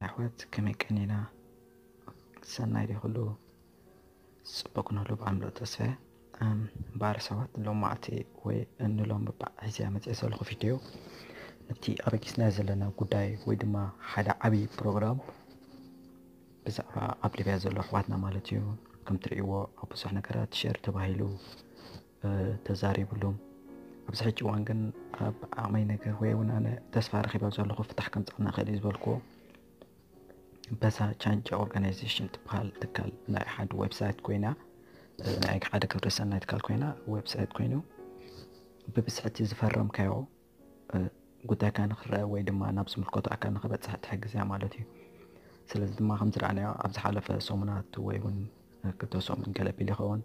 ኣሕዋት ከመይ ቀኒና? ሰናይ ዶ ኩሉ? ጽቡቕ ንህሉ ብኣምልኦ ተስፋ። እምበኣር ሰባት ሎም መዓልቲ ወይ እንሎም ሒዘያ መጽአ ዘለኹ ቪድዮ ነቲ ኣበጊስና ዘለና ጉዳይ ወይ ድማ ሓደ ዓብዪ ፕሮግራም ብዛዕባ ኣብ ሊብያ ዘሎ ኣሕዋትና ማለት እዩ። ከም ትርእይዎ ኣብ ብዙሕ ነገራት ሸር ተባሂሉ ተዛሪብሉ። ኣብዚ ሕጂ እዋን ግን ኣብ ዓቕመይ ነገር ወይ እውን ኣነ ተስፋ ረኺበ ዘለኹ ፍታሕ ከምፅኣና ይኽእል እዩ ዝበልክዎ በዛ ቻንጃ ኦርጋናይዜሽን ትበሃል ትካል ናይ ሓደ ዌብሳይት ኮይና ናይ ሓደ ግብረሰናይ ትካል ኮይና ዌብሳይት ኮይኑ ብብዝሒ እቲ ዝፈረምካዮ ጉዳይካ ንክረአ ወይ ድማ ናብ ዝምልከቶ ኣካል ንክበፅሕ ትሕግዝ እያ ማለት እዩ። ስለዚ ድማ ከም ዝረኣናዮ ኣብ ዝሓለፈ ሰሙናት ወይ እውን ክልተ ሰሙን ገለ ቢል ይኸውን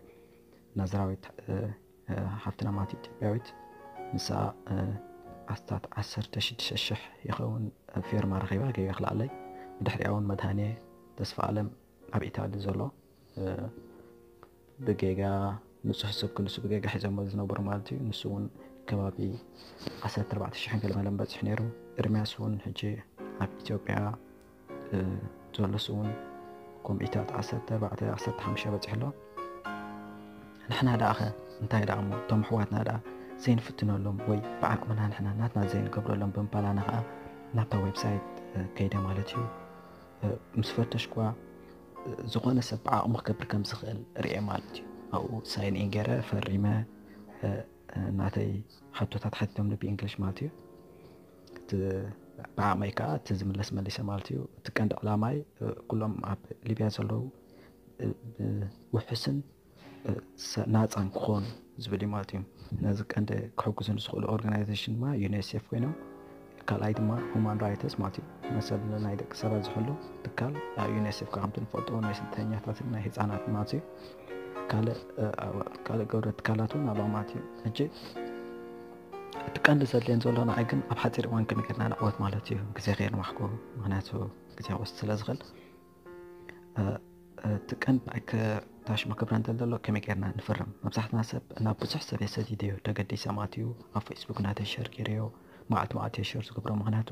ናዝራዊት ሓፍትና ማለት ኢትዮጵያዊት ንሳ ኣስታት ዓሰርተ ሽዱሽተ ሽሕ ይኸውን ፊርማ ረኺባ ገይረ ክልኣለይ ብድሕሪኣ እውን መድሃኔ ተስፋ ኣለም ኣብ ኢታሊ ዘሎ ብጌጋ ንፁህ ሰብ ክንሱ ብጌጋ ሒዞሞ ዝነበሩ ማለት እዩ። ንሱ እውን ከባቢ ዓሰርተ ኣርባዕተ ሽሕን ገለ መለን በፂሑ ነይሩ። ኤርሚያስ እውን ሕጂ ኣብ ኢትዮጵያ ዘሎ ንሱ እውን ኮምኢታት ዓሰርተ ኣርባዕተ ዓሰርተ ሓሙሽተ በፂሑ ኣሎ። ንሕና ደኣ ኸ እንታይ ደኣ እሞ እቶም ኣሕዋትና ደኣ ዘይንፍትነሎም ወይ ብዓቕምና ንሕና ናትና ዘይንገብረሎም ብምባል ኣነ ኸዓ ናብታ ዌብሳይት ከይደ ማለት እዩ። ምስ ፈተሽኳ ዝኾነ ሰብ ብዓቕሙ ክገብር ከም ዝኽእል ርእየ ማለት እዩ። ኣብኡ ሳይን ኢን ገይረ ፈሪመ ናተይ ሕቶታት ሓቲቶምኒ ብእንግሊሽ ማለት እዩ። ብዓቕመይ ከዓ እቲ ዝምለስ መሊሰ ማለት እዩ። እቲ ቀንዲ ዕላማይ ኩሎም ኣብ ሊብያ ዘለዉ ብውሕስን ናፃን ክኾኑ ዝብል እዩ ማለት እዩ። ነዚ ቀንዲ ክሕግዙ ዝኽእሉ ኦርጋናይዜሽን ድማ ዩኒሴፍ ኮይኖም ካልኣይ ድማ ሁማን ራይትስ ማለት እዩ። መሰል ናይ ደቂ ሰባት ዝሕሉ ትካል ዩኒሴፍ ከዓ ከምቲ ንፈልጦ ናይ ስደተኛታትን ናይ ህፃናት ማለት እዩ። ካልእ ግብረ ትካላት እውን ኣለዋ ማለት እዩ። ሕጂ እቲ ቀንዲ ዘድልየን ዘሎ ንዓይ ግን ኣብ ሓፂር እዋን ከመይ ጌርና ንዕወት ማለት እዩ። ግዜ ከየንዋሕኩ ምክንያቱ ግዜ ክወስድ ስለ ዝኽእል እቲ ቀንዲ ታሽሞ ክብረ እንተል ዘሎ ከመይ ጌርና ንፍርም? መብዛሕትና ሰብ ናብ ብዙሕ ሰብ የሰዲደዮ ተገዲሰ ማለት እዩ። ኣብ ፌስቡክ ናተይ ሸር ገይረዮ መዓልቲ መዓልቲ ሸር ዝገብሮ ምክንያቱ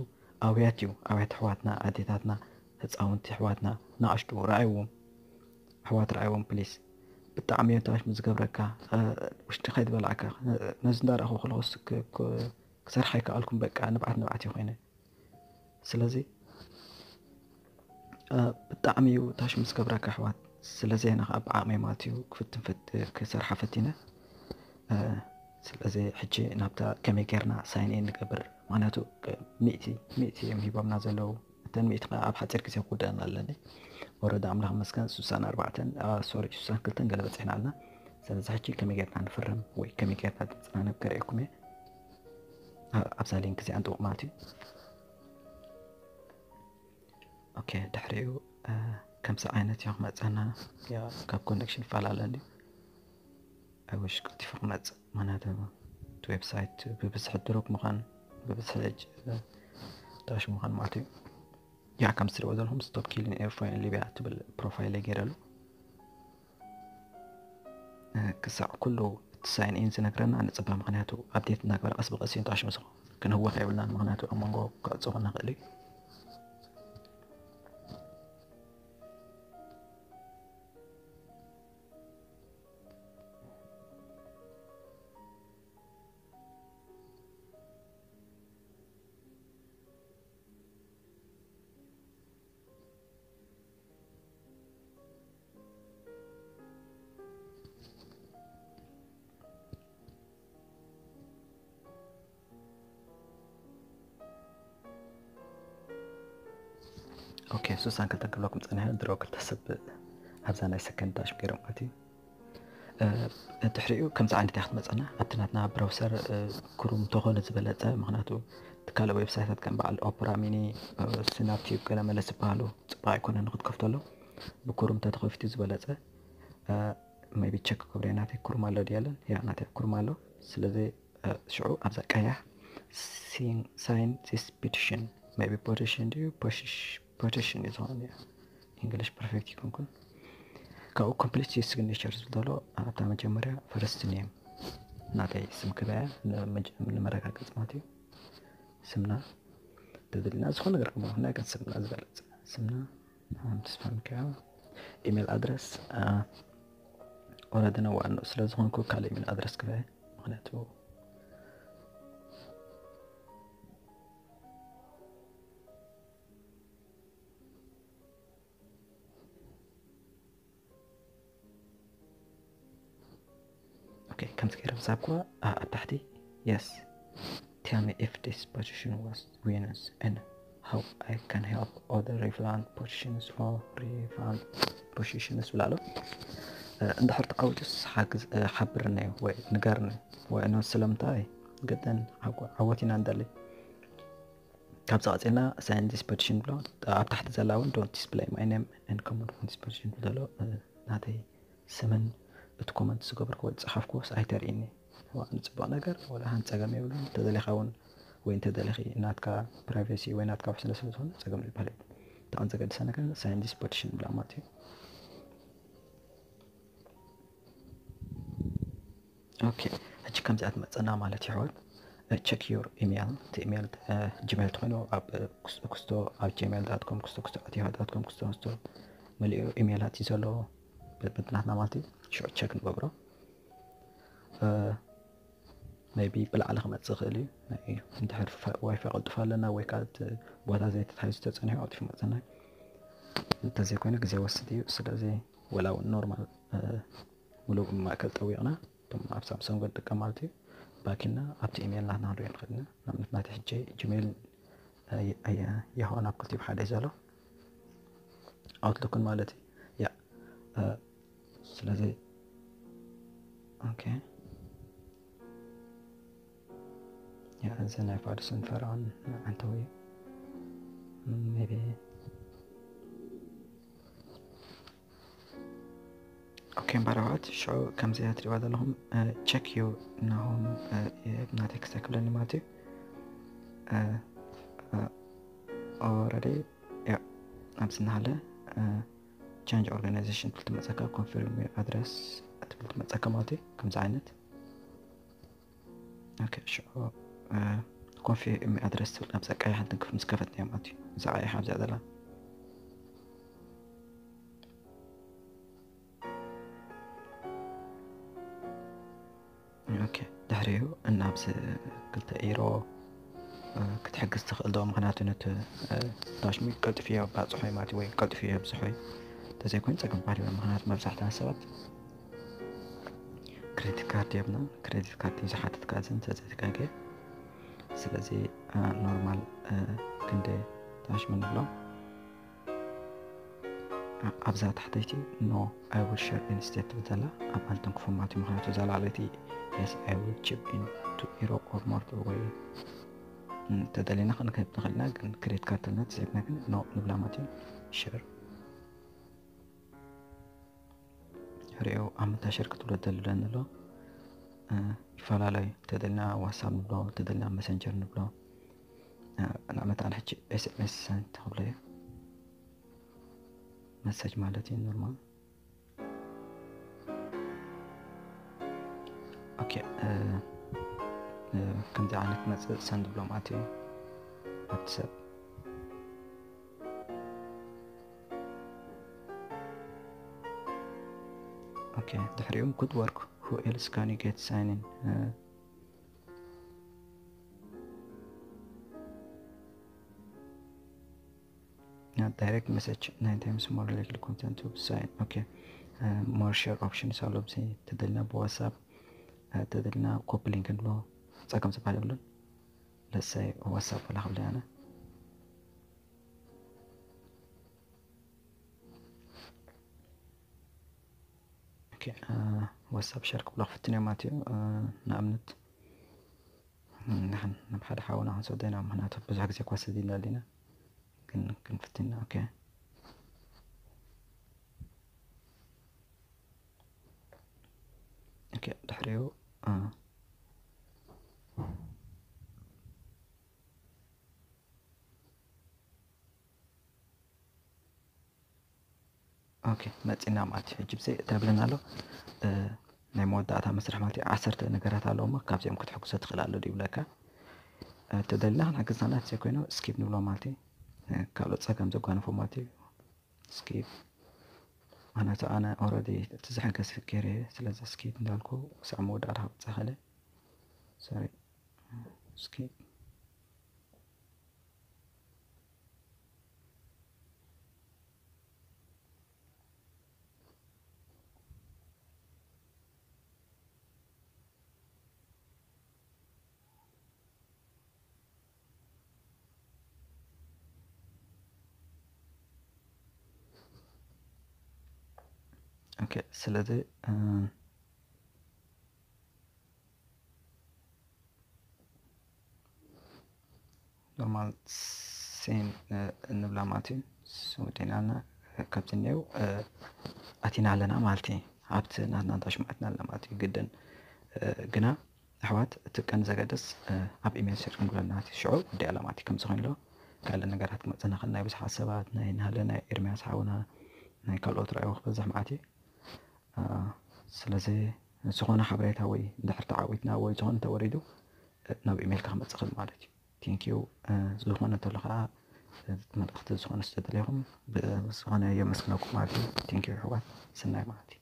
ኣውያት እዩ። ኣውያት ኣሕዋትና ኣዴታትና ህፃውንቲ ኣሕዋትና ንኣሽቱ ረኣይዎም ኣሕዋት ረኣይዎም ፕሊስ። ብጣዕሚ እዮም ታሽሙ ዝገብረካ ውሽጢ ከይትበላዕካ ነዚ እንዳረእኹ ከለኹስ ክሰርሕ ኣይከኣልኩም በቃ ንብዓት ንብዓት እዩ ኮይነ ስለዚ ብጣዕሚ እዩ ታሽሙ ዝገብረካ ኣሕዋት። ስለዚ ኣነ ከዓ ብዓቕመይ ማለት እዩ ክፍትን ክሰርሓ ፈቲነ። ስለዚ ሕጂ ናብታ ከመይ ጌርና ሳይን ኢን ንገብር ምክንያቱ ሚእቲ ሚእቲ እዮም ሂቦምና ዘለዉ። እተን ሚእቲ ከዓ ኣብ ሓፂር ግዜ ክውደአን ኣለኒ። ወረዳ ኣምላኽ መስገን ሱሳን ኣርባዕተን ሶሪ ሱሳን ክልተን ገለ በፂሕና ኣለና። ስለዚ ሕጂ ከመይ ጌርና ንፍርም ወይ ከመይ ጌርና ድምፅና ነብ ከርእየኩም እየ። ኣብዛ ሊንክ እዚኣ ንጥውቕ ማለት እዩ። ኦኬ ድሕሪኡ ከምዚ ዓይነት እዮም ክመፀና ካብ ኮኔክሽን ይፈላለ እንዲ ኣይወሽ ቀልጢፉ ክመፅእ ምክንያቱ እቲ ዌብሳይት ብብዝሒ ድሮፕ ምዃን ብብዝሒ ታሽ ምዃን ማለት እዩ። ያ ከም ትሪእዎ ዘለኹም ስቶፕ ኪሊን ኤርትራውያን ሊብያ ትብል ፕሮፋይል ገይረሉ ክሳዕ ኩሉ እቲ ሳይን ኢን ዝነግረና ንፅበ ምክንያቱ ኣብዴት እናግበረ ቀስ ብቀስ እዩ ንጣሽ ምስኹ ክንህወኽ የብልናን ምክንያቱ ኣብ መንጎ ክዕፅቡ ንኽእል እዩ። ኦኬ ሱሳን ክልተ ክብለኩም ፀኒሐ ድሮ ክልተ ሰብ ኣብዛ ናይ ሰከንድ ዳሽ ገይሮም ማለት እዩ። ድሕሪኡ ከምዚ ዓይነት እያ ክትመፀና ኣብቲ ናትና ብራውሰር ክሩም ተኾነ ዝበለፀ ምክንያቱ ትካለ ዌብሳይታት ከም በዓል ኦፕራ ሚኒ ስናፕቲዩብ ገለ መለስ ዝበሃሉ ፅቡቅ ኣይኮነ ንክትከፍተሉ ብክሩም ተተኸፊቱ ዝበለፀ maybe ቸክ ክብረ ናተይ ክሩም ኣሎ ድያለን ያ ናተይ ክሩም ኣሎ ስለዚ ሽዑ ኣብዛ ቀያሕ ሳይን ዚስ ፒቲሽን maybe ፖቲሽን ድዩ ፖቲሽን እዩ ዝኾነ ኢንግሊሽ ፐርፌክት ይኮንኩን ካብኡ ኮምፕሊት ሲግኔቸር ዝብሎ ኣብታ መጀመርያ ፈርስት ኔም ናተይ ስም ክበያ ንመረጋገፅ ማለት እዩ ስምና ተደልና ዝኾነ ነገር ክመ ናይ ግን ስምና ዝበለፅ ስምና፣ ኣም፣ ተስፋ ሚካኤል። ኢሜል ኣድረስ፣ አ፣ ኦረዲ ነዋዕ ስለ ዝኾንኩ ካልእ ኢሜል ኣድረስ ክበ፣ ምኽንያቱ ኦኬ፣ ከምዚ ገይረ ምሳብ እኳ፣ አ፣ ኣብ ታሕቲ፣ yes, tell me if this position was winners and how I can help other relevant positions or relevant positions ብላሎ። እ፣ እንድሕር ተዓዊቱስ ሓግዝ፣ እ፣ ሓብርኒ ወይ ንገርኒ ወይ ኖ ስለምንታይ ገደን ዓወ-፣ ዓወት ኢና እንደሊ። ካብዚ ቀፂልና sign this petition ብሎ፣ ኣብ ታሕቲ ዘላ እውን don't display my name and comment on this petition ብሎ፣ እ፣ ናተይ ስምን እቲ ኮመንት ዝገበርክዎ ዝፀሓፍክዎስ ኣይተርእይኒ። ዋ፣ ንፅቡቕ ነገር ወላ ሓንቲ ፀገም የብሉን። እንተደሊኻ እውን ወይ እንተደሊኺ ናትካ ፕራይቬሲ ወይ ናትካ ውሕስነት ስለ ዝኾነ ፀገም ዝበሃል የብሉን። እታ ቀንዲ ዘገድሳ ነገር sign this petition ብላ ማለት እዩ። ኦኬ፣ ሕጂ ከምዚኣ ትመፀና ማለት እዩ ኣሕዋት። እ፣ check your email፣ እቲ ኢሜል፣ እ፣ ጂሜል ተኾይኑ ኣብ፣ እ፣ ኩስ-፣ ኩስቶ ኣብ ጂሜል ዳት ኮም፣ ኩስቶ ኩስቶ ኣት ያሁ ዳት ኮም፣ ኩስቶ ኩስቶ መሊኡ ኢሜላት እዩ ዘሎ በብናትና ማለት እዩ። ሽዑ ቸክ ንገብሮ። እ፣ ሜይቢ ብላዕሊ ክመፅእ ይኽእል እዩ። ናይ፣ እንድሕር ፋ-፣ ዋይፋይ ቀልጥፍ ኣለና ወይ ከዓ እቲ ቦታ ዘይተታሒዙ ተፀኒሑ ቀልጢፉ ይመፀና እዩ። እንተዘይኮይኑ ግዜ ወስድ እዩ። ስለዚ ወላ እውን ኖርማል፣ እ፣ ሙሉእ ማእከል ጠዊቕና፣ እቶም ኣብ ሳምሰንግ ንጥቀም ማለት እዩ፣ ባኪና ኣብቲ ኢሜል ናትና ክንሪኦ ንኽእል ኢና። ንኣብነት ናተይ ሕጂ ጂሜል፣ እ፣ የ-፣ የ-፣ የሆ ናብ ክልቲኡ ብሓደ እዩ ዘሎ፣ ኣውትሉክን ማለት እዩ። ያ፣ እ፣ ስለዚ፣ ኦኬ። ያ፣ እዚ ናይ ፋዱስን ፈርዖን መዓንተዊ እዩ። ሜቢ፣ ኦኬ፣ እምበኣር ኣሕዋት፣ ሽዑ ከምዚ እያ ትሪእዋ ዘለኹም፣ እ፣ ቸክ ዩ ናሆም፣ እ፣ እ፣ ናተይ ክስታይ ክብለኒ ማለት እዩ። እ፣ እ፣ ኦረዲ፣ ያ፣ ኣብዚ እናሃለ፣ እ፣ ቸንጅ ኦርጋናይዜሽን ትብል ትመፀካ፣ ኮንፊርም ዩ ኣድረስ ትብል ትመፀካ ማለት እዩ። ከምዚ ዓይነት። ኦኬ፣ ሽዑ፣ እ፣ ኮንፊርም ኣድረስ ትብል ኣብዛ ቀያሕ ትንክፍ ምስ ከፈትና ማለት እዩ። እዛ ቀያሕ ኣብዚኣ ዘላ። ኦኬ፣ ድሕሪኡ እናብዚ ክልተ ኢሮ፣ እ፣ ክትሕግዝ ትኽእል ዶ? ምኽንያቱ ነቲ፣ እ፣ ዳሽሚ ቀልጥፍ እየ ባፅሖ ማለት እዩ፣ ወይ ቀልጥፍ እየ ብዝሖ እዩ። እንተዘይኮይኑ ፀገም ባሪ፣ ምኽንያቱ መብዛሕትኣን ሰባት ክሬዲት ካርድ የብና፣ ክሬዲት ካርድ እዩ ዝሓትት ካዝን ተዘይተጋገ። ስለዚ፣ እ፣ ኖርማል፣ እ፣ ክንደ ዳሽሚ ንብሎ። ኣብዛ ታሕተይቲ ኖ፣ I will share instead ትብል ዘላ ኣብ ኣንተንክፎ ማለት እዩ። ምኽንያቱ እዛ ላዕለይቲ yes, I will chip in to Europe or more ወይ እንተደሊና ክንክብ ንኽእል ኢና፣ ግን ክሬዲት ካርድ ተልና ተዘይብና ግን ኖ ንብላ ማለት እዩ። ሸር ሕሪኦ ኣብ ምንታይ ሸር ክትብሎ ደልለን ኣሎ፣ እ፣ ይፈላለዩ። እንተደልና ዋትሳፕ ንብሎ፣ እንተደልና መሰንጀር ንብሎ። እ፣ ንኣብነት ኣነ ሕጂ ኤስ ኤም ኤስ ሰንድ ተኽብሎ እዩ። መሰጅ ማለት እዩ ኖርማል። ኦኬ፣ እ፣ እ፣ ከምዚ ዓይነት መጽእ ሰንድ ብሎ ማለት እዩ ኣብቲ ሰብ። ኦኬ፣ ድሕሪኡ good work, who else can you get sign in? እ፣ ያ፣ ዳይሬክት መሰጅ ናይን ታይምስ ሞር ላይክሊ ኮንተንት ቱ ሳይን። ኦኬ፣ እ፣ ሞር ሸር ኦፕሽንስ ኣሎ። ብዚ ተደልና ብዋትሳፕ፣ እ፣ ተደልና ኮፒ ሊንክ ንብሎ፣ ጸገም ዝበሃል የብሉን። ለሳይ ዋትሳፕ ወላ ክብል ኣነ። ኦኬ፣ እ፣ ዋትሳፕ ሸር ክብሎ ክፍትን እዮም ማለት እዩ። እ፣ ንኣብነት ንሕን ናብ ሓደ ሓውና ክንሰዶ ኢና፣ ምኽንያቱ ብዙሕ ግዜ እኳ ሰዲድና ኣሊና፣ ግን ክንፍትን ኢና። ኦኬ። ኦኬ፣ ድሕሪኡ፣ እ፣ ኦኬ፣ መጺና ማለት እዩ። ሕጂ ብዘይ እንታይ ብለና ኣሎ? እ፣ ናይ መወዳእታ መስርሕ ማለት እዩ። ዓሰርተ ነገራት ኣለዎ እሞ ካብዚኦም ክትሕግዞ ትኽእል ኣሎ ድዩ ይብለካ። እ፣ ተደሊና ክንሕግዝ ናት ዘይኮይኑ ስኪፕ ንብሎ ማለት እዩ። ካልኦት ጸገም ዘጓንፎ ማለት እዩ። ስኪፕ። ምክንያቱ ኣነ ኦረዲ እቲ ዝሕገዝ ገይረ እየ። ስለዚ ስኪፕ እንዳልኩ ክሳዕ መወዳእታ ክብጽሕ ክእል። ሶሪ፣ ስኪፕ። ኦኬ፣ ስለዚ ኖርማል ሴን ንብላ ማለት እዩ። ወዲእናና ካብዚ እኒው ኣቲና ኣለና ማለት እዩ። ኣብቲ ናትና እንታሽማዕትና ኣለና ማለት እዩ። ግድን ግና ኣሕዋት፣ እቲ ቀን ዘገደስ ኣብ ኢሜል ሴር ክንብለና ማለት እዩ። ሽዑ ወዲኣ ኣላ ማለት እዩ። ከምዚ ኮይንሎ ካልእ ነገራት ክመፅና ከ ናይ ብዙሓት ሰባት ናይ ናለ ናይ ኤርሚያስ ሓውና ናይ ካልኦት ረኣይዎ ክበዝሕ ማለት እዩ። ስለዚ ዝኾነ ሓበሬታ ወይ እንድሕር ተዓዊትና ወይ ዝኾነ ተወሪዱ ናብ ኢሜይልካ ክመፅእ ክእል ማለት እዩ። ቴንኪዩ። ዝኾነ እንተሎ ከዓ መልእኽቲ ዝኾነ ዝተደለኹም ብዝኾነ የመስግነኩም ማለት እዩ። ቴንኪዩ ኣሕዋት፣ ሰናይ ማለት እዩ።